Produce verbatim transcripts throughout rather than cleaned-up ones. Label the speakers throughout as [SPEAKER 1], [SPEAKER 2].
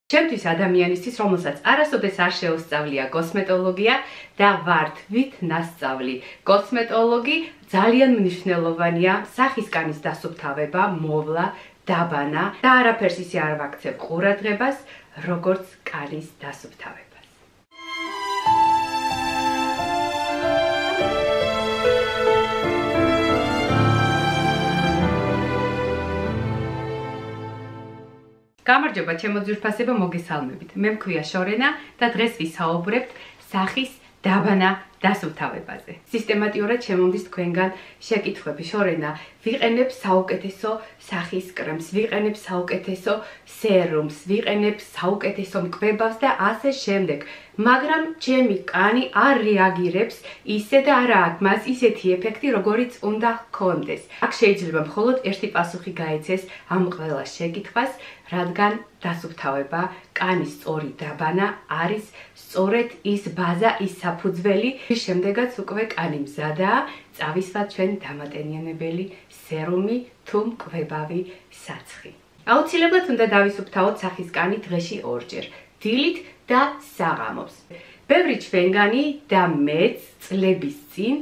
[SPEAKER 1] ჩემთვის ადამიანისთვის, რომელსაც არასოდეს არ შეუსწავლია კოსმეტოლოგია და ვარ თვით ნასწავლი კოსმეტოლოგი, ძალიან მნიშვნელოვანია სახისკანის დასუფთავება, მოვლა, დაბანა და არაფერს ისე არ ვაქცევ ყურადღებას, როგორც კანის დასუფთავებას. გამარჯობა ჩემო ძვირფასებო, მოგესალმებით. მე მქვია შორენა და დღეს ვისაუბრებთ სახის დაბანა დასუფთავებაზე. სისტემატიურად შემომდის თქვენგან შეკითხვები. შორენა, ვიყენებ საუკეთესო სახის კრემს, ვიყენებ საუკეთესო სერუმს, ვიყენებ საუკეთესო მკვებავს და ასე შემდეგ. მაგრამ ჩემი კანი არ რეაგირებს ისე და არა აქვს მას ისეთი ეფექტი, როგორიც უნდა ჰქონდეს. აქ შეიძლება მხოლოდ ერთი პასუხი გაეცეს ამ ყველა შეკითხვას, რადგან დასუფთავება, კანის სწორი დაბანა არის სწორედ ის ბაზა, ის საფუძველი, რის შემდეგაც უკვე კანი მზადაა, წავისვათ ჩვენ დამატენიანებელი სერუმი თუ მკვებავი საცხი. აუცილებლად უნდა დავისუფთავოთ სახის კანი დღეში ორჯერ, დილით და საღამოს. ბევრი ჩვენგანი და მეც წლების წინ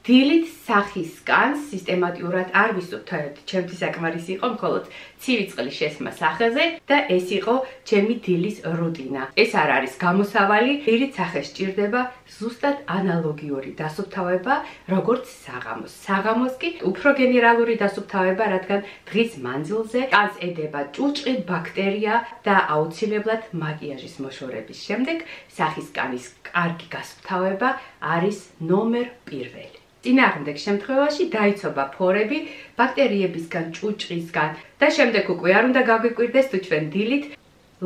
[SPEAKER 1] დილით სახის კანს სისტემატიურად არ ვისუფთავებთ. ჩემთვის საკმარისი იყო მხოლოდ ცივი წყლის შესმა სახეზე და ეს იყო ჩემი დილის რუტინა. ეს არ არის გამოსავალი, დილით სახეს სჭირდება ზუსტად ანალოგიური დასუფთავება, როგორც საღამოს. საღამოს კი უფრო გენერალური დასუფთავება, რადგან დღის მანძილზე კანს ედება ჭუჭყი, ბაქტერია და აუცილებლად მაკიაჟის მოშორების შემდეგ სახის კანის კარგი გასუფთავება არის ნომერ პირველი. წინააღმდეგ შემთხვევაში დაიცობა ფორები ბაქტერიებისგან, ჭუჭყისგან და შემდეგ უკვე არ უნდა გაგვიკვირდეს თუ ჩვენ დილით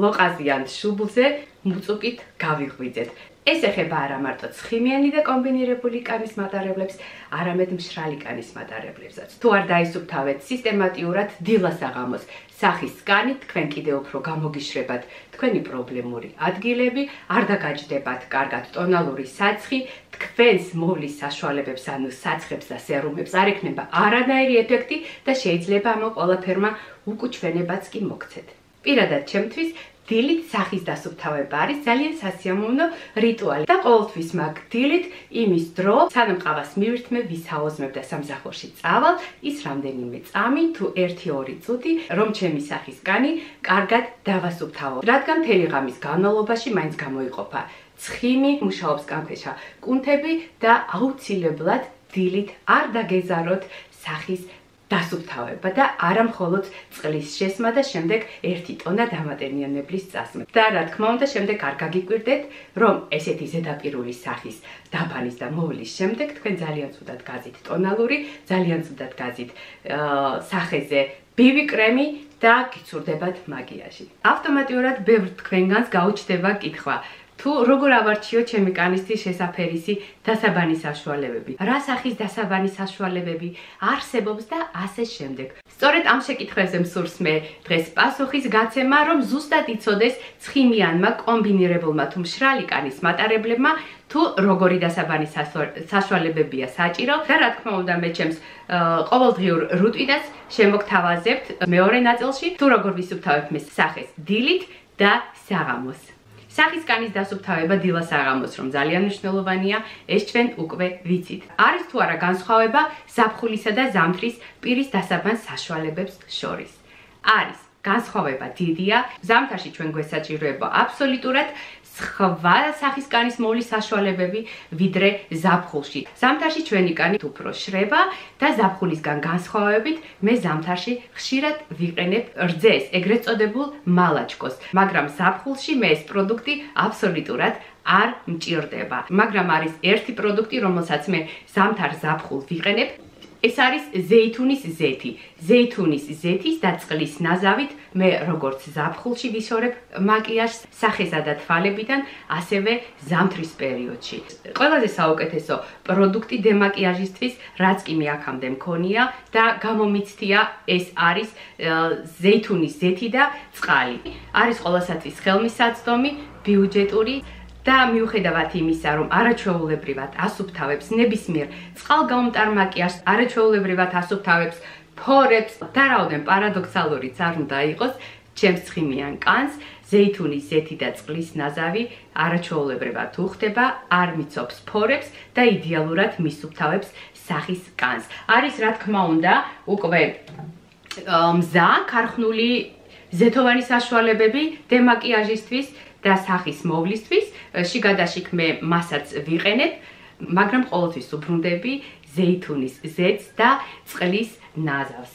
[SPEAKER 1] ლოყაზიან შუბლზე მუწუკით გავიღვიძეთ. ეს ეხება არა მარტო ცხიმიანი და კომბინირებული კანის მატარებლებს, არამედ მშრალი კანის მატარებლებსაც. თუ არ დაისუფთავეთ სისტემატიურად დილა-საღამოს სახის კანი, თქვენ კიდევ უფრო გამოგიშრებათ თქვენი პრობლემური ადგილები, არ დაგაჯდებათ კარგად ტონალური საცხი, თქვენს მოვლის საშუალებებს, ანუ საცხებს და სერუმებს არ ექნება არანაირი ეფექტი და შეიძლება ამ ყველაფერმა უკუჩვენებაც კი მოგცეთ. პირადად ჩემთვის დილით სახის დასუფთავება არის ძალიან სასიამოვნო რიტუალი და ყოველთვის მაგ დილით იმის დრო, სანამ ყავას მივირთმევ, ვისაუზმებ და სამსახურში წავალ, ის რამდენიმე წამი თუ ერთი ორი წუთი, რომ ჩემი სახის კანი კარგად დავასუფთავო. რადგან მთელი ღამის განმავლობაში მაინც გამოიყოფა ცხიმი, მუშაობს კანქვეშა კუნთები და აუცილებლად დილით არ დაგეზაროთ სახის დასუფთავება და არა მხოლოდ წყლის შესმა და შემდეგ ერთი ტონა დამატენიანებლის წასმა. და რა თქმა უნდა, შემდეგ არ გაგიკვირდეთ, რომ ესეთი ზედაპირული სახის დაბანის და მოვლის შემდეგ თქვენ ძალიან ცუდად გაზით ტონალური, ძალიან ცუდად გაზით სახეზე ბიბი კრემი და გიცურდებათ მაკიაჟი. ავტომატურად ბევრ თქვენგანს გაუჩნდება კითხვა, თუ როგორ ავარჩიო ჩემი კანისთვის შესაფერისი დასაბანის საშუალებები, რა სახის დასაბანის საშუალებები არსებობს და ასე შემდეგ. სწორედ ამ შეკითხვებზე მსურს მე დღეს პასუხის გაცემა, რომ ზუსტად იცოდეს ცხიმიანმა, კომბინირებულმა თუ მშრალი კანის მატარებლებმა თუ როგორი დასაბანის საშუალებებია საჭირო და რა თქმა უნდა მე ჩემს ყოველდღიურ რუტინას შემოგთავაზებთ მეორე ნაწილში, თუ როგორ ვისუფთავებ მე სახეს დილით და საღამოს. სახის კანის დასუფთავება დილა-საღამოს, რომ ძალიან მნიშვნელოვანია, ეს ჩვენ უკვე ვიცით. არის თუ არა განსხვავება ზაფხულისა და ზამთრის პირის დასაბანს საშუალებებს შორის? არის. განსხვავება დიდია. ზამთარში ჩვენ გვესაჭიროება აბსოლუტურად სხვა სახის კანის მოვლის საშუალებები, ვიდრე ზაფხულში. ზამთარში ჩვენი კანი უფრო შრება და ზაფხულისგან განსხვავებით მე ზამთარში ხშირად ვიყენებ რძეს, ეგრეთ წოდებულ მალაჩკოს, მაგრამ ზაფხულში მე ეს პროდუქტი აბსოლუტურად არ მჭირდება. მაგრამ არის ერთი პროდუქტი, რომელსაც მე ზამთარ-ზაფხულ ვიყენებ. ეს არის ზეითუნის ზეთი. ზეითუნის ზეთის და წყლის ნაზავით მე როგორც ზაფხულში ვიშორებ მაკიაჟს სახესა და თვალებიდან, ასევე ზამთრის პერიოდში. ყველაზე საუკეთესო პროდუქტი დემაკიაჟისთვის, რაც კი მე აქამდე მქონია და გამომიცდია, ეს არის ზეითუნის ზეთი და წყალი. არის ყველასათვის ხელმისაწვდომი, ბიუჯეტური და მიუხედავად იმისა, რომ არაჩვეულებრივად ასუფთავებს ნებისმიერ წყალგამტარ მაკიაჟს, არაჩვეულებრივად ასუფთავებს ფორებს და რაოდენ პარადოქსალურიც არ უნდა იყოს, ჩემს ცხიმიან კანს ზეითუნის ზეთი და წყლის ნაზავი არაჩვეულებრივად უხდება, არ მიცობს ფორებს და იდეალურად მისუფთავებს სახის კანს. არის რა თქმა უნდა, უკვე მზა ქარხნული ზეთოვანი საშუალებები დემაკიაჟისთვის და სახის მოვლისთვის. შიგადაშიგ მე მასაც ვიყენებ, მაგრამ ყოველთვის უბრუნდები ზეითუნის ზეთს და წყლის ნაზავს.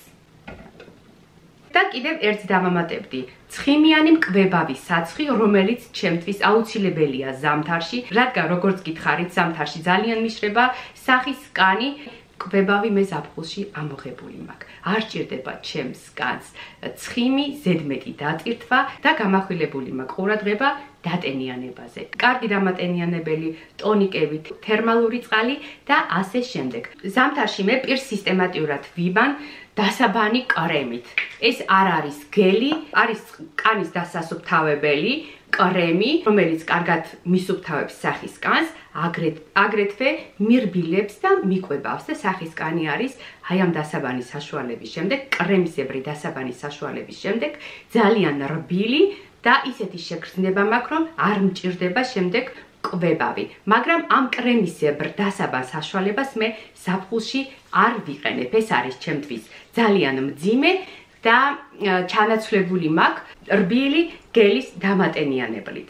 [SPEAKER 1] და კიდევ ერთ დავამატებდი, ცხიმიანი მკბებავი საცხი, რომელიც ჩემთვის აუცილებელია ზამთარში, რადგან როგორც გითხარით, ზამთარში ძალიან მიშრება სახის კანი, მკბებავი მე ზაფხულში ამოღებული მაქვს. არ ჭირდება ჩემს კანს ცხიმი, ზედმეტი დატირთვა და გამახვილებული მაქვს ყურადღება დატენიანებაზე. კარგი დამატენიანებელი ტონიკებით, თერმალური წყალი და ასე შემდეგ. ზამთარში მე პირს სისტემატიურად ვიბან დასაბანი კრემით. ეს არ არის გელი, არის კანის დასასუფთავებელი კრემი, რომელიც კარგად მისუფთავებს სახის კანს, აგრეთვე მირბილებს და მიკვებავს და სახის კანი არის აი ამ დასაბანის საშუალების შემდეგ, კრემისებრი დასაბანის საშუალების შემდეგ ძალიან რბილი და ისეთი შეგრძნება მაქვს, რომ არ მჭირდება შემდეგ კვებავი. მაგრამ ამ კრემისებრ დასაბან საშუალებას მე ზაფხულში არ ვიყენებ. ეს არის ჩემთვის ძალიან მძიმე და ჩანაცვლებული მაქვს რბილი გელის დამატენიანებლით.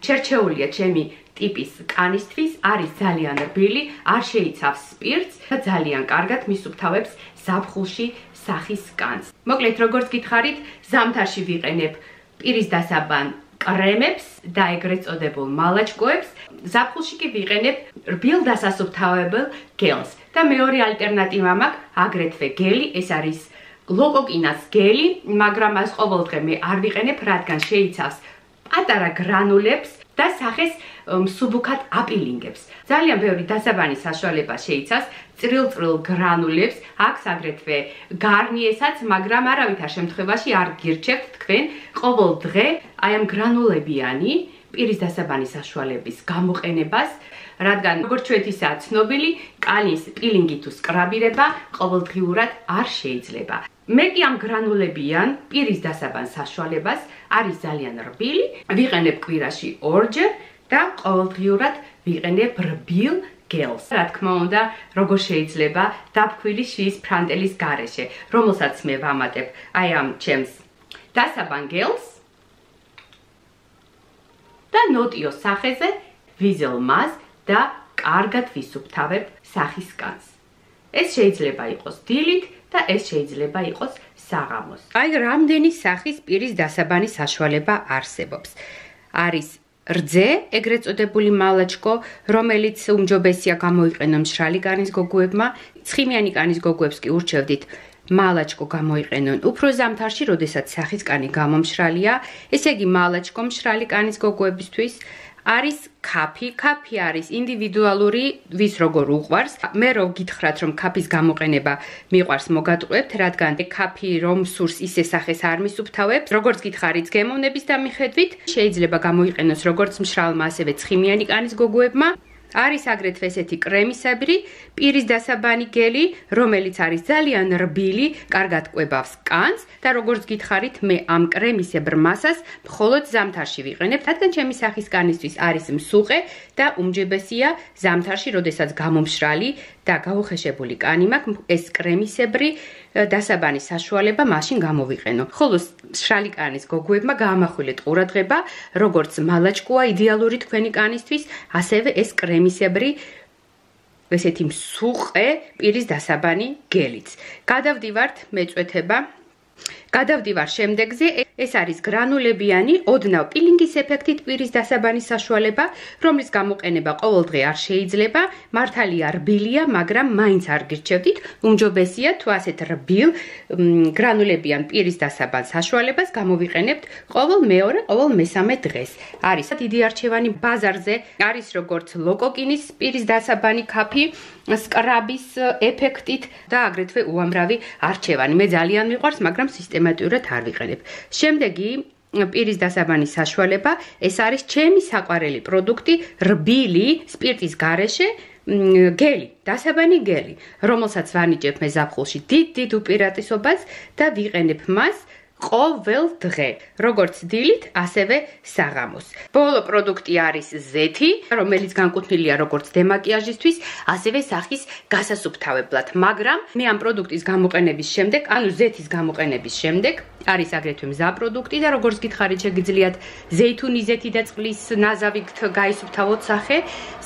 [SPEAKER 1] შერჩეულია ჩემი ტიპის კანისთვის, არის ძალიან რბილი, არ შეიცავს სპირტს და ძალიან კარგად მისუფთავებს ზაფხულში სახის კანს. მოკლედ, როგორც გითხარით, ზამთარში ვიყენებ პირის დასაბან კრემებს და ეგრეთ წოდებულ მალაჭკოებს, ზაფხულში კი ვიყენებ რბილ დასასუფთავებელ გელს. და მეორე ალტერნატივა მაქვს აგრეთვე გელი, ეს არის ლოკოკინას გელი, მაგრამ მას ყოველდღე მე არ ვიყენებ, რადგან შეიცავს პატარა გრანულებს და სახეს მსუბუქად აპილინგებს. ძალიან ბევრი დასაბანი საშუალება შეიცავს წრილ-წრილ გრანულებს, აქვს აგრეთვე გარნიესაც, მაგრამ არავითარ შემთხვევაში არ გირჩევთ თქვენ ყოველდღე აი ამ გრანულებიანი პირის დასაბანი საშუალების გამოყენებას, რადგან როგორც ჩვენთვისაა ცნობილი, კანის პილინგი თუ სკრაბირება ყოველდღიურად არ შეიძლება. მე კი ამ გრანულებიან პირის დასაბან საშუალებას არის ძალიან რბილი, ვიყენებ კვირაში ორჯერ და ყოველდღიურად ვიყენებ რბილ გელს. რა თქმა უნდა, როგორ შეიძლება დაფქვილი შიის ფრანტელის გარეშე, რომელსაც მე ვამატებ აი ამ ჩემს დასაბან გელს და ნოტიო სახეზე ვიზელ მას და კარგად ვისუფთავებ სახის კანს. ეს შეიძლება იყოს დილით და ეს შეიძლება იყოს საღამოს. აი რამდენი სახის პირის დასაბანი საშუალება არსებობს. არის რძე, ეგრეთ წოდებული მალაჭკო, რომელიც უმჯობესია გამოიყენო მშრალი კანის გოგოებმა, ცხიმიანი კანის გოგოებს კი ურჩევდით მალაჭკო გამოიყენონ უფრო ზამთარში, როდესაც სახის კანი გამომშრალია, ესე იგი მალაჭკო მშრალი კანის გოგოებისთვის არის კაფი, კაფი არის ინდივიდუალური, ვის როგორ უყვარს. მე რო გითხრათ, რომ კაფის გამოყენება მიყვარს, მოგატყუებთ, რადგან კაფი რომ სურს ისე სახეს არ მისუფთავებს. როგორც გითხარით, გემოვნების დამიხედვით შეიძლება გამოიყენოს როგორც მშრალმა, ასევე ცხიმიანი კანის გოგოებმა. არის აგრეთვე ესეთი კრემისებრი პირის დასაბანი გელი, რომელიც არის ძალიან რბილი, კარგად კვებავს კანს და როგორც გითხარით, მე ამ კრემისებრ მასას მხოლოდ ზამთარში ვიყენებ, რადგან ჩემი სახის კანისთვის არის მსუყე და უმჯობესია ზამთარში, როდესაც გამომშრალი და გაუხეშებული კანი მაქვს, ეს კრემისებრი დასაბანი საშუალება მაშინ გამოვიყენო. ხოლო მშრალი კანის გოგოებმა გაამახვილეთ ყურადღება, როგორც მალაჭკოა იდეალური თქვენი კანისთვის, ასევე ეს კრემისებრი ესეთი მსუყე პირის დასაბანი გელიც. გადავდივართ მეწვეთება. გადავდივარ შემდეგზე, ეს არის გრანულებიანი, ოდნავ პილინგის ეფექტით პირის დასაბანის საშუალება, რომლის გამოყენება ყოველდღე არ შეიძლება, მართალია რბილია, მაგრამ მაინც არ გირჩევდით, უმჯობესია თუ ასეთ რბილ გრანულებიან პირის დასაბან საშუალებას გამოვიყენებთ ყოველ მეორე, ყოველ მესამე დღეს. არის დიდი არჩევანი ბაზარზე, არის როგორც ლოკოკინის პირის დასაბანი კაფი, სკრაბის ეფექტით და აგრეთვე უამრავი არჩევანი. მე ძალიან მიყვარს, მაგრამ სისტემატურად არ ვიყენებ. შემდეგი პირის დასაბანის საშუალება, ეს არის ჩემი საყვარელი პროდუქტი, რბილი სპირტის გარეშე გელი, დასაბანი გელი, რომელსაც ვანიჭებ მე ზაფხულში დიდ-დიდ უპირატესობას და ვიყენებ მას ყოველ დღე, როგორც დილით, ასევე საღამოს. ბოლო პროდუქტი არის ზეთი, რომელიც განკუთვნილია როგორც დემაკიაჟისთვის, ასევე სახის გასასუფთავებლად, მაგრამ მე ამ პროდუქტის გამოყენების შემდეგ, ანუ ზეთის გამოყენების შემდეგ, არის აგრეთვე მზა პროდუქტი და როგორც გითხარით, შეგიძლიათ ზეითუნის ზეთი და წყლის ნაზავით გაისუფთავოთ სახე.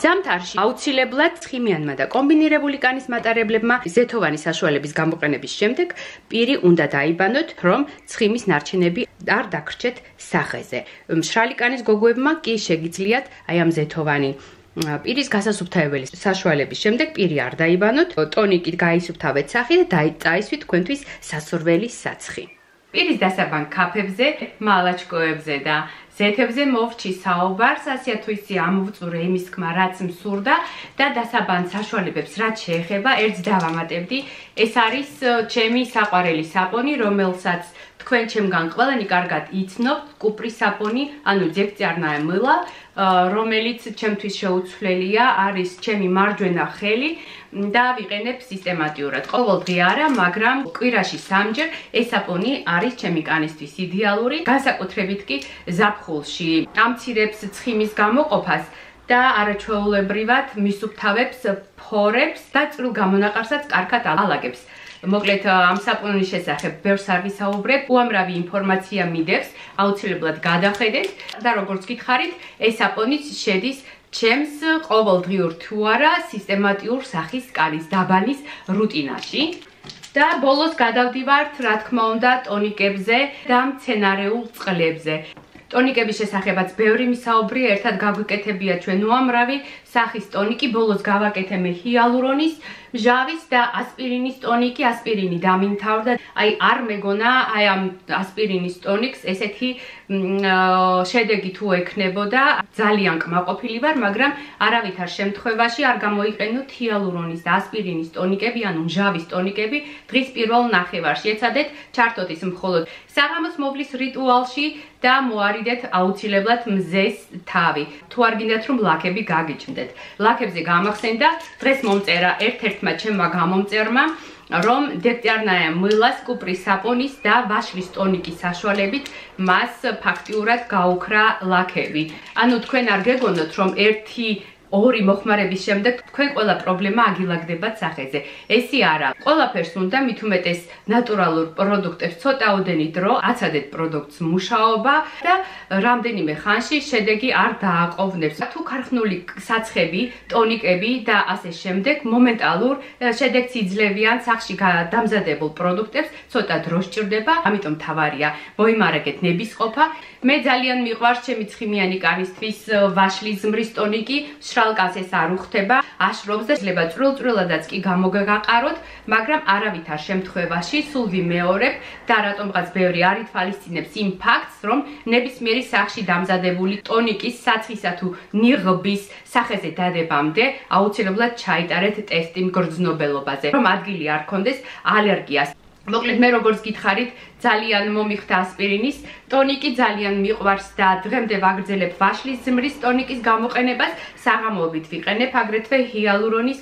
[SPEAKER 1] ზამთარში აუცილებლად ცხიმიანმა და კომბინირებული კანის მატარებლებმა ზეთოვანი საშუალების გამოყენების შემდეგ პირი უნდა დაიბანოთ, რომ ცხიმის ნარჩენები არ დაგრჩეთ სახეზე. მშრალი კანის გოგოებმა კი შეგიძლიათ აი ამ ზეთოვანი პირის გასასუფთავებელი საშუალების შემდეგ პირი არ დაიბანოთ, ტონიკით გაისუფთავეთ სახე და დაიწაისვით თქვენთვის სასურველი საცხი. პირის დასაბან ქაფებზე, მალაჩკოებზე და ზეთებზე მოვჭი საუბარს, ასეა თუ ისი ამოვწურე იმის თქმა, რაც მსურდა და დასაბან საშუალებებს რაც შეეხება, ერთს დავამატებდი, ეს არის ჩემი საყვარელი საპონი, რომელსაც თქვენ ჩემგან ყველანი კარგად იცნობთ, კუპრის საპონი, ანუ ძეგწარნაე მილა, რომელიც ჩემთვის შეუცვლელია, არის ჩემი მარჯვენა ხელი და ვიყენებ სისტემატიურად. ყოველდღე არა, მაგრამ კვირაში სამჯერ ეს საპონი არის ჩემი კანისთვის იდეალური, განსაკუთრებით კი ზაფხულში. ამცირებს ცხიმის გამოყოფას და არაჩვეულებრივად მისუფთავებს ფორებს და წვრილ გამონაყარსაც კარგად ალაგებს. მოკლედ ამ საპონის შესახებ ბევრს არ ვისაუბრებ, უამრავი ინფორმაცია მიდევს, აუცილებლად გადახედეთ და როგორც გითხარით, ეს საპონიც შედის ჩემს ყოველდღიურ თუ არა სისტემატიურ სახის კანის დაბანის რუტინაში. და ბოლოს გადავდივართ, რა თქმა უნდა, ტონიკებზე და მცენარეულ წყლებზე. ტონიკების შესახებაც ბევრი მისაუბრია, ერთად გაგვიკეთებია ჩვენ უამრავი სახის ტონიკი, ბოლოს გავაკეთე მე ჰიალურონის, მჟავის და ასპირინის ტონიკი, ასპირინი დამინთავრდა. აი არ მეგონა აი ამ ასპირინის ტონიკს ესეთი შედეგი თუ ექნებოდა, ძალიან კმაყოფილი ვარ, მაგრამ არავითარ შემთხვევაში არ გამოიყენოთ ჰიალურონის და ასპირინის ტონიკები, ანუ მჟავის ტონიკები დღის პირველ ნახევარში. ეცადეთ ჩართოთ ის მხოლოდ საღამოს მოვლის რიტუალში და მოარიდეთ აუცილებლად მზეს თავი. თუ არ გინდათ რომ ლაქები გაგიჭმდეთ. ლაქებზე გამახსენდა დღეს მომწერა ერთ-ერთმა ჩემმა გამომწერმა, რომ დექტარნაე მილას კუპრის საპონის და ვაშლის ტონიკის საშუალებით მას ფაქტიურად გაუქრა ლაქები. ანუ თქვენ არ გეგონოთ რომ ერთი ორი მოხმარების შემდეგ თქვენ ყველა პრობლემა აგილაგდებათ სახეზე. ესი არა. ყველაფერს უნდა მით უმეტეს ნატურალურ პროდუქტებს ცოტაოდენი დრო აცადეთ პროდუქტს მუშაობა და რამდენიმე ხანში შედეგი არ დააყოვნებს. თუ ქარხნული საცხები, ტონიკები და ასე შემდეგ მომენტალურ შედეგს იძლევიან სახში დამზადებულ პროდუქტებს ცოტა დრო სჭირდება, ამიტომ თავარია მოიმარაგეთ ნებისყოფა. მე ძალიან მიყვარს ჩემი ცხიმიანი კანისთვის ვაშლის ზმრის ტონიკი, შრალკას ეს არ უხდება, აშრობს და შეიძლება წვრილ-წვრილადაც კი გამოგაყაროთ, მაგრამ არავითარ შემთხვევაში სულ ვიმეორებ და რატომღაც ბევრი არ ითვალისწინებს იმ ფაქტს, რომ ნებისმიერი სახში დამზადებული ტონიკის საცხისა თუ ნიღბის სახეზე დადებამდე აუცილებლად ჩაიტარეთ ტესტი მგრძნობელობაზე, რომ ადგილი არ გქონდეს ალერგიას. მოკლედ მე როგორც გითხარით, ძალიან მომიხდა ასპირინის ტონიკი, ძალიან მიყვარს და დღემდე ვაგრძელებ ვაშლის ზმრის ტონიკის გამოყენებას, საღამოობით ვიყენებ აგრეთვე ჰიალურონის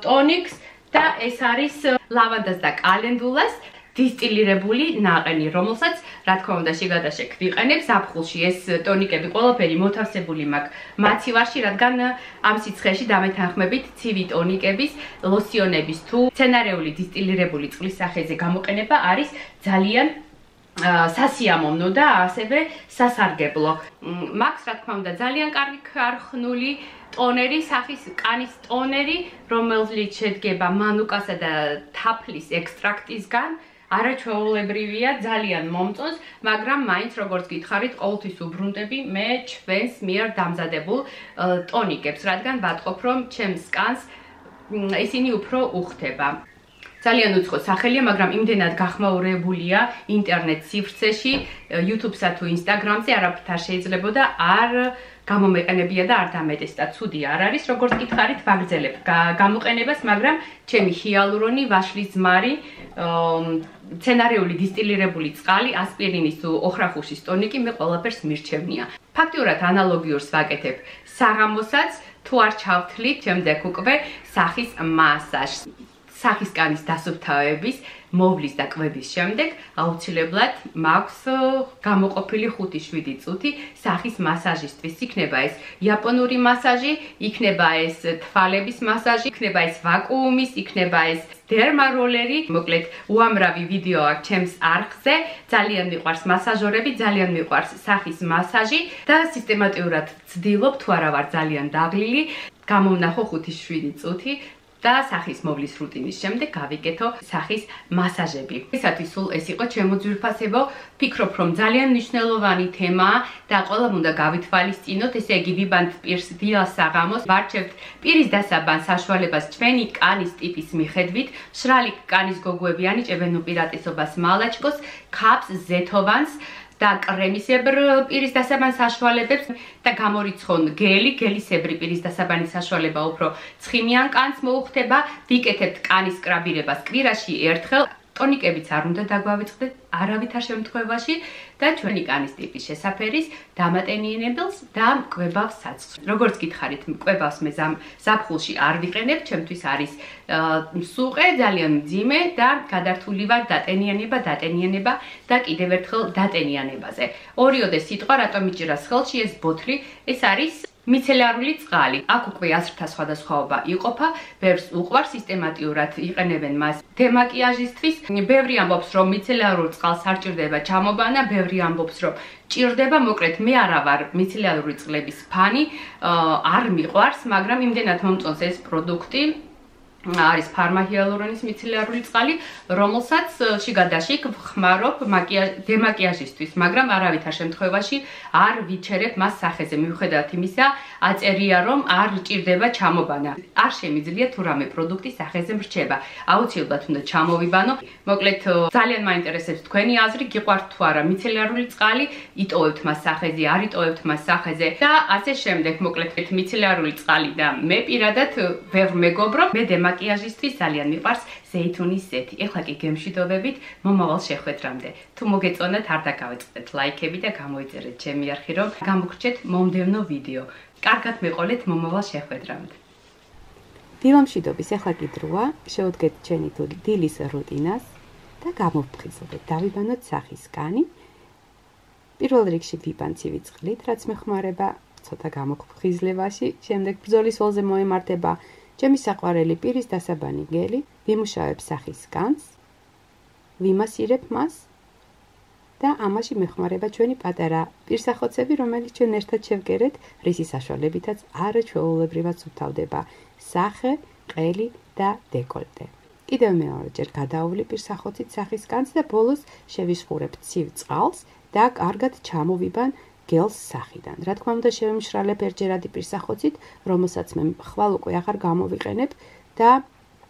[SPEAKER 1] ტონიკს და ეს არის ლავანდას და კალენდულას დისტილირებული ნაყენი, რომელსაც რა თქმა უნდა შეგადაშექ ვიყენებ ზაფხულში. ეს ტონიკები ყველაფერი მოთავსებული მაქვს მაცივარში, რადგან ამ სიცხეში დამეთანხმებით ცივი ტონიკების, ლოსიონების თუ მცენარეული დისტილირებული წყლის სახეზე გამოყენება არის ძალიან სასიამოვნო და ასევე სასარგებლო. მაქვს რა თქმა უნდა ძალიან კარგი ქარხნული ტონერი, სახის კანის ტონერი, რომელიც შედგება მანუკასა და თაფლის ექსტრაქტისგან. არაჩვეულებრივია, ძალიან მომწონს, მაგრამ მაინც როგორც გითხარით, ყოველთვის უბრუნდები მე ჩვენს მიერ დამზადებულ ტონიკებს, რადგან ვატყობ, რომ ჩემს კანს ისინი უფრო უხდება. ძალიან უცხო სახელია, მაგრამ იმდენად გახმაურებულია ინტერნეტ სივრცეში, YouTube-სა თუ Instagram-ზე არაფრით არ შეიძლებოდა არ გამომეყენებია და არ დამეტეს და ცუდი არ არის, როგორც გითხარით, ვაგრძელებ გამოყენებას, მაგრამ ჩემი ჰიალურონი, ვაშლის ზმარი, მცენარეული დისტილირებული წყალი, ასპირინის თუ ოხრახუშის ტონიკი მე ყველაფერს მირჩევნია. ფაქტიურად ანალოგიურს ვაკეთებ საღამოსაც, თუ არ ჩავთვლით, შემდეგ უკვე სახის მასაჟს. სახის კანის დასუფთავების, მოვლის და კვების შემდეგ აუცილებლად მაქვს გამოყოფილი ხუთი შვიდი წუთი სახის მასაჟისთვის. იქნება ეს იაპონური მასაჟი, იქნება ეს თვალების მასაჟი, იქნება ეს ვაკუუმის, იქნება ეს დერმაროლერი. მოკლედ უამრავი ვიდეო აქვს ჩემს არხზე. ძალიან მიყვარს მასაჟორები, ძალიან მიყვარს სახის მასაჟი და სისტემატურად ვცდილობ, თუ არა ვარ ძალიან დაღლილი, გამოვნახო ხუთი შვიდი წუთი და სახის მოვლის რუტინის შემდეგ გავიკეთო სახის მასაჟები. ესათვის სულ ეს იყო ჩემო ძვირფასებო. ფიქრობ, რომ ძალიან მნიშვნელოვანი თემაა და ყველამ უნდა გავითვალისწინოთ, ესე იგი ვიბანთ პირს დილას საღამოს, ვარჩევთ პირის დასაბან საშუალებას ჩვენი კანის ტიპის მიხედვით. მშრალი კანის გოგოები ანიჭებენ უპირატესობას მალაჩკოს, ქაფს, ზეთოვანს და კრემისებრ პირის დასაბან საშუალებებს და გამორიცხონ გელი, გელისებრი პირის დასაბანის საშუალება უფრო ცხიმიან კანს მოუხდება. ვიკეთებთ კანის სკრაბირებას კვირაში ერთხელ. ტონიკებიც არ უნდა დაგვავიწყდეთ არავითარ შემთხვევაში და ჩვენი კანის ტიპის შესაფერის დამატენიანებელს და მკვებავს საცხს. როგორც გითხარით, მკვებავს მე ზაფხულში არ ვიყენებ, ჩემთვის არის სუყე, ძალიან მძიმე და გადართული ვარ დატენიანება, დატენიანება და კიდევ ერთხელ დატენიანებაზე. ორიოდე სიტყვა რატომ მიჭირას ხელში ეს ბოთლი, ეს არის მიცელარული წყალი. აქ უკვე აზრთა სხვადასხვაობა იყოფა, ბევრს უყვარს სისტემატურად იყენებენ მას დემაკიაჟისთვის. ბევრი ამბობს, რომ მიცელარულ წყალს არ ჭირდება ჩამობანა, ბევრი ამბობს, რომ ჭირდება. მოკლედ მე არა ვარ მიცელარული წყლების ფანი, არ მიყვარს, მაგრამ იმდენად მომწონს ეს პროდუქტი. არის ფარმაჰიალურონის მიცელარული წყალი, რომელსაც შიგადაშიგ ვხმარობ დემაკიაჟისთვის, მაგრამ არავითარ შემთხვევაში არ ვიჩერებ მას სახეზე. მიუხედავად იმისა, აწერია, რომ არ ჭირდება ჩამობანა. არ შემიძლია თუ რამე პროდუქტი სახეზე მრჩება. აუცილებლად უნდა ჩამოვიბანო. მოკლედ ძალიან მაინტერესებს თქვენი აზრი, გიყვართ თუ არა მიცელარული წყალი, იტოვებთ მას სახეზე, არ იტოვებთ მას სახეზე და ასე შემდეგ. მოკლედ მიცელარული წყალი და მე პირადად ვერ მეგობრობ. მე დემაკიაჟისთვის ძალიან მიყვარს ზეითუნის ზეთი. ეხლა კი გემშვიდობებით მომავალ შეხვედრამდე. თუ მოგეწონათ, არ დაგავიწყდეთ ლაიქები და გამოიწერეთ ჩემი არხი, რომ გამოგრჩეთ მომდევნო ვიდეო. კარგად მეყოლეთ მომავალ შეხვედრამდე. დილამშვიდობის, ეხლა კი დროა, შევდგეთ ჩვენი დილის რუტინას და გამოვფხიზლდეთ. დავიბანოთ სახის კანი. პირველ რიგში ვიბან ცივი წყლით, რაც მეხმარება ცოტა გამოფხიზლებაში. შემდეგ ბრძოლის ველზე მოემართება ჩემი საყვარელი პირის დასაბანი გელი. ვიმუშავებ სახის კანს, ვიმასირებ მას და ამაში მეხმარება ჩვენი პატარა პირსახოცები, რომელიც ჩვენ ერთად შევგერეთ, რისი საშუალებითაც არაჩვეულებრივად სუფთავდება სახე, ყელი და დეკოლტე. კიდევ მეორეჯერ გადაავლი პირსახოცით სახის კანს და ბოლოს შევიშხურებ ცივ წყალს და კარგად ჩამოვიბან გელს სახიდან. რა თქმა უნდა, შევიმშრალებ ერთჯერადი პირსახოცით, რომელსაც მე ხვალ უკვე აღარ გამოვიყენებ და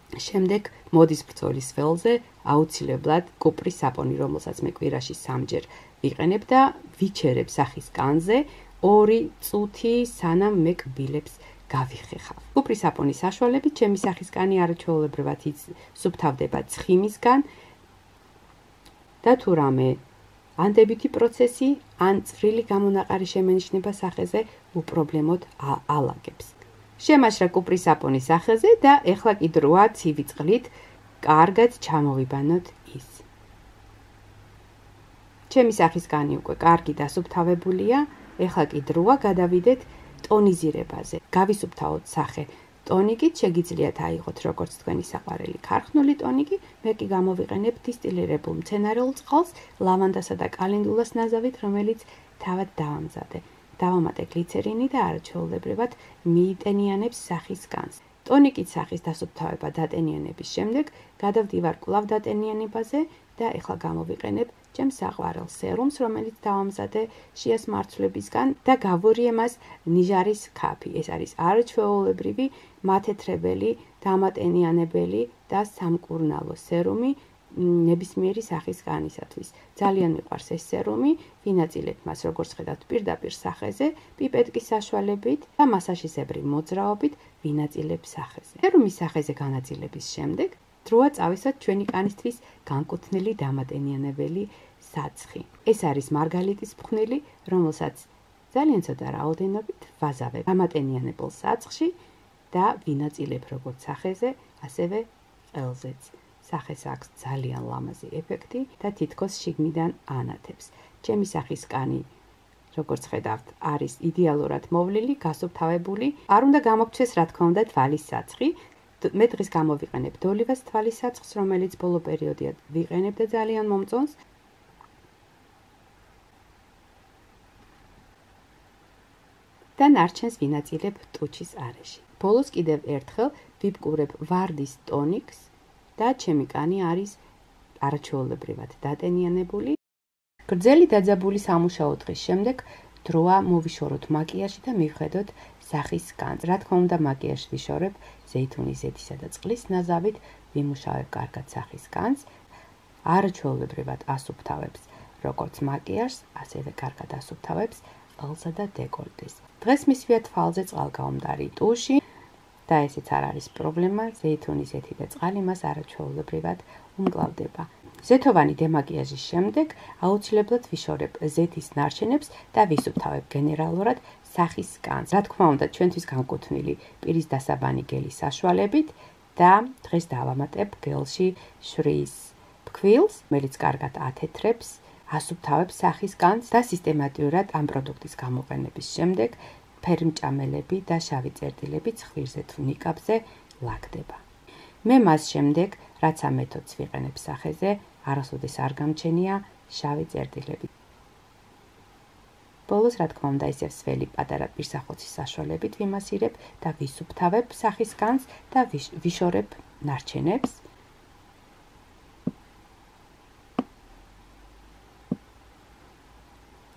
[SPEAKER 1] შემდეგ მოდის ბრძოლის ველზე აუცილებლად კუპრის საპონი, რომელსაც მე კვირაში სამჯერ ვიყენებ და ვიჩერებ სახის კანზე ორი წუთი, სანამ მე კბილებს გავიხეხავ. კუპრის საპონის საშუალებით ჩემი სახის კანი არაჩვეულებრივად სუფთავდება ცხიმისგან და თუ რამე ანდებითი პროცესი ან წვრილი გამონაყარი შემენიშნება სახეზე, უპრობლემოდ ალაგებს. შემაშრა კუპრის საპონის სახეზე და ეხლა კი დროა ცივი წყლით კარგად ჩამოვიბანოთ ის. ჩემი სახის კანი უკვე კარგი დასუფთავებულია, ეხლა კი დროა გადავიდეთ ტონიზირებაზე. გავისუფთავოთ სახე ტონიკით, შეგიძლიათ აიღოთ როგორც თქვენი საყვარელი ქარხნული ტონიკი, მე კი გამოვიყენებ დისტილირებულ მცენარეულ წყალს, ლავანდასა და კალენდულას ნაზავით, რომელიც თავად დავამზადე. დავამატე გლიცერინი და არაჩვეულებრივად მიიტენიანებს სახის კანს. ტონიკით სახის დასუფთავება დატენიანების შემდეგ გადავდივარ კვლავ დატენიანებაზე და ეხლა გამოვიყენებ ჩემს საყვარელ სერუმს, რომელიც დავამზადე შიას მარცვლებისგან და გავურიე მას ნიჟარის ქაფი. ეს არის არაჩვეულებრივი, მათეთრებელი, დამატენიანებელი და სამკურნალო სერუმი ნებისმიერი სახის კანისათვის. ძალიან მიყვარს ეს სერუმი, ვინაწილებთ მას როგორც ხედავთ პირდაპირ სახეზე, პიპეტკის საშუალებით და მასაჟისებრი მოძრაობით ვინაწილებ სახეზე. სერუმის სახეზე განაწილების შემდეგ დროა წავისვათ ჩვენი კანისთვის განკუთვნილი დამატენიანებელი საცხი. ეს არის მარგალიტის ფხვნილი, რომელსაც ძალიან ცოტა რაოდენობით ვაზავებ დამატენიანებელ საცხში და ვინაწილებ როგორც სახეზე, ასევე ყელზეც. სახეს აქვს ძალიან ლამაზი ეფექტი და თითქოს შიგნიდან ანათებს. ჩემი სახის კანი, როგორც ხედავთ, არის იდეალურად მოვლილი, გასუფთავებული. არ უნდა გამოგცეს, რა თქმა უნდა, თვალის საცხი. მე დღეს გამოვიყენებ დოლივას თვალის საცხს, რომელიც ბოლო პერიოდია ვიყენებ და ძალიან მომწონს. და ნარჩენს ვინაწილებ ტუჩის არეში. ბოლოს კიდევ ერთხელ ვიბკურებ ვარდის ტონიკს და ჩემი კანი არის არაჩვეულებრივად დატენიანებული. გრძელი დაძაბული სამუშაო დღის შემდეგ დროა მოვიშოროთ მაკიაჟი და მივხედოთ სახის კანს. რა თქმა უნდა, მაკიაჟს ვიშორებ ზეითუნის ზეთისა და წყლის ნაზავით, ვიმუშავებ კარგად სახის კანს. არაჩვეულებრივად ასუფთავებს როგორც მაკიაჟს, ასევე კარგად ასუფთავებს ყელსა და დეკოლტეს. დღეს მისვია თვალზე წყალგაუმდარი ტუში და ესეც არ არის პრობლემა, ზეითუნის ზეთი და წყალი მას არაჩვეულებრივად უმკლავდება. ზეთოვანი დემაკიაჟის შემდეგ აუცილებლად ვიშორებ ზეთის ნარჩენებს და ვისუფთავებ გენერალურად სახის კანს. რა თქმა უნდა, ჩვენთვის განკუთვნილი პირის დასაბანი გელის საშუალებით და დღეს დავამატებ გელში შვრიის ფქვილს, რომელიც კარგად ათეთრებს, ასუფთავებს სახის კანს და სისტემატურად ამ პროდუქტის გამოყენების შემდეგ ფერმჭამელები და შავი წერტილები ცხვირზე თუ ნიკაპზე ლაგდება. მე მას შემდეგ, რაც ამ მეთოდს ვიყენებ სახეზე, არასოდეს არ გამჩენია შავი წერტილები. ბოლოს, რა თქმა უნდა, ისევ სველი პატარა პირსახოცის საშუალებით ვიმასირებ და ვისუფთავებ სახის კანს და ვიშორებ ნარჩენებს.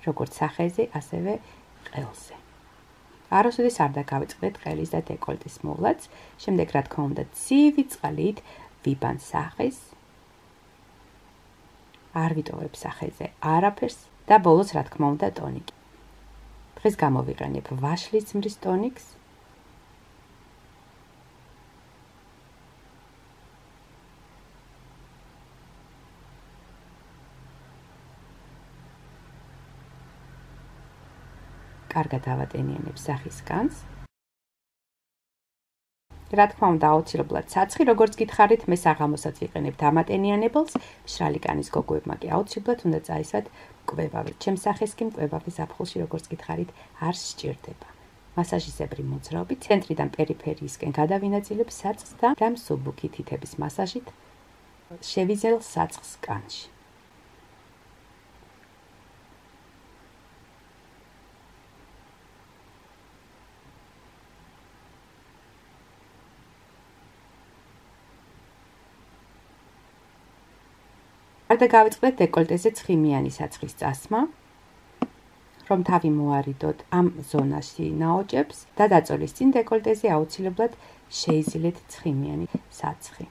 [SPEAKER 1] როგორც სახეზე, ასევე ყელზე. არასოდეს არ დაგავიწყდეთ ყელის და დეკოლტის მოვლაც. შემდეგ, რა თქმა უნდა, ცივი წყლით ვიბან სახეს. არ ვიტოვებ სახეზე არაფერს და ბოლოს, რა თქმა უნდა, ტონიკი. დღეს გამოვიყენებ ვაშლის ძმრის ტონიკს. კარგად ავატენიანებ სახის კანს. რა თქმა უნდა, აუცილებლად საცხი, როგორც გითხარით, მე საღამოსაც ვიყენებ დამატენიანებელს, მშრალი კანის გოგოებმა კი აუცილებლად უნდა წაისვათ მკვლევავი. ჩემს სახეს კი მკვლევავის ზაფხულში, როგორც გითხარით, არ სჭირდება. მასაჟისებრი მოძრაობით ცენტრიდან პერიფერიისკენ გადავინაწილებ საწყს და რამ სუბუქი თითების მასაჟით შევიზელ საწყს კანში. არ დაგავიწყდეთ დეკოლტეზე ცხიმიანი საცხის წასმა, რომ თავი მოარიდოთ ამ ზონაში ნაოჭებს და დაწოლის წინ დეკოლტეზე აუცილებლად შეიზილეთ ცხიმიანი საცხი.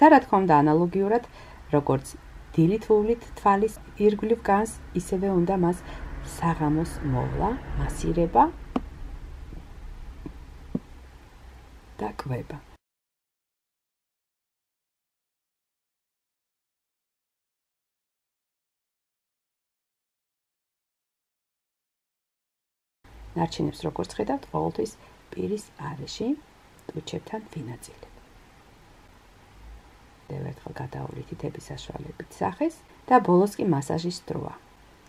[SPEAKER 1] და რა თქმა უნდა, ანალოგიურად, როგორც დილით ვუვლით თვალის ირგვლივ განს, ისევე უნდა მას საღამოს მოვლა, მასირება და კვება. ნარჩენებს, როგორც ხედავთ, ყოველთვის პირის არეში ტუჩებთან ვინაწილებ. ერთხელ გადავავლით თითების საშუალებით სახეს და ბოლოს კი მასაჟის დროა.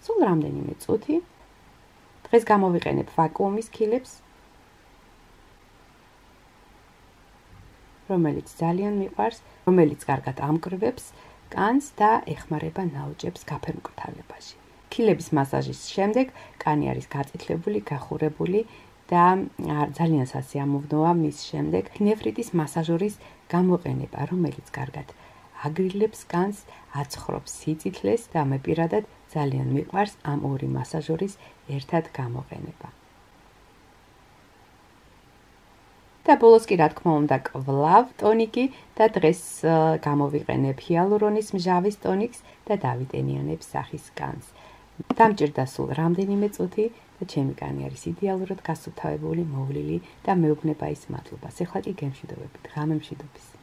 [SPEAKER 1] სულ რამდენიმე წუთი. დღეს გამოვიყენებ ვაკუუმის ქილებს, რომელიც ძალიან მიყვარს, რომელიც კარგად ამკრვებს კანს და ეხმარება ნაოჭებს გაფერმკრთალებაში. ქილების მასაჟის შემდეგ კანი არის გაწითლებული, გახურებული და ძალიან სასიამოვნოა მის შემდეგ ნეფრიტის მასაჟორის გამოყენება, რომელიც კარგად აგრილებს კანს, აცხრობს სიწითლეს და მე პირადად ძალიან მიყვარს ამ ორი მასაჟორის ერთად გამოყენება. და ბოლოს კი, რა თქმა უნდა, კვლავ ტონიკი და დღეს გამოვიყენებ ჰიალურონის მჟავის ტონიკს და დავიტენიანებ სახის კანს. დამჭირდა სულ რამდენიმე წუთი და ჩემი კანი არის იდეალურად გასუფთავებული, მოვლილი და მეუბნება ის მადლობას. ეხლა კი გემშვიდობებით, ღამემშვიდობის.